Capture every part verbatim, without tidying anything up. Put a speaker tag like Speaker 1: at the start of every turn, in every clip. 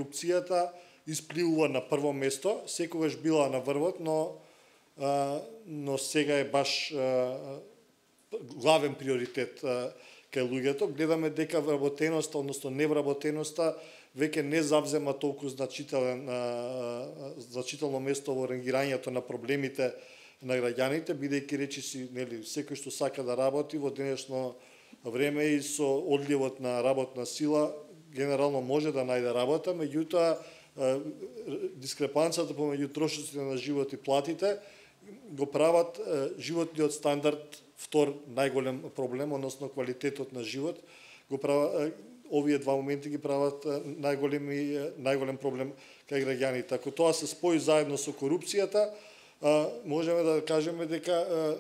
Speaker 1: корупцијата испливува на прво место, секогаш била на врвот, но но сега е баш главен приоритет кај луѓето. Гледаме дека вработеноста, односно невработеноста, веќе не завзема толку значителен значително место во рангирањето на проблемите на граѓаните, бидејќи речиси, нели, секој што сака да работи во денешно време и со одливот на работна сила генерално може да најде работа, меѓутоа дискрепанцата помеѓу трошоците на живот и платите го прават животниот стандард втор најголем проблем, односно квалитетот на живот, го прават овие два моменти ги прават најголеми најголем проблем кај граѓаните. Ако тоа се спои заедно со корупцијата, можеме да кажеме дека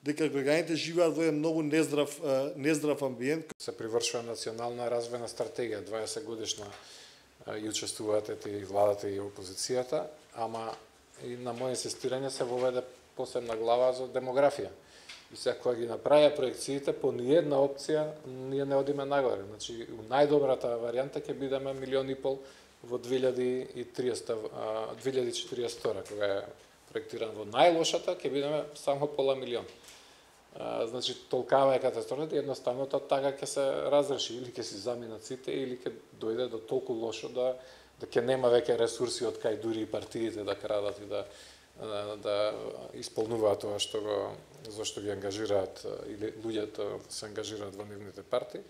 Speaker 1: дека граѓаните живеат во еден многу нездрав нездрав амбиент.
Speaker 2: Се привршува национална развојна стратегија, дваесет годишна, и учествуваат и владата и опозицијата, ама и на моје инсистирање се воведе посебна глава за демографија. И сега кога ги направија проекциите, по ниедна опција ние не одиме нагоре. Значи, у најдобрата варијанта ќе бидеме милион и пол во две илјади и триесета, две илјади и четириесета втора, кога е проектиран. Во најлошата ќе бидеме само пола милион. Значи, толкава е катастрофата, едноставно тоа така ќе се разреши, или ќе си заминат сите, или ќе дојде до толку лошо да да ќе нема веќе ресурси од кај дури и партиите да крадат и да да исполнуваат тоа што го зашто ги ангажираат или луѓето се ангажираат во нивните партии.